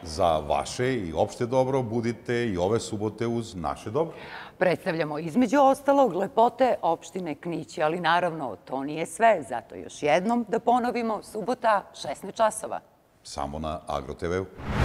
za vaše i opšte dobro budite i ove subote uz naše dobro. Predstavljamo između ostalog lepote opštine Knić, ali naravno to nije sve, zato još jednom da ponovimo, subota 16 časova. Samo na Agro TV-u.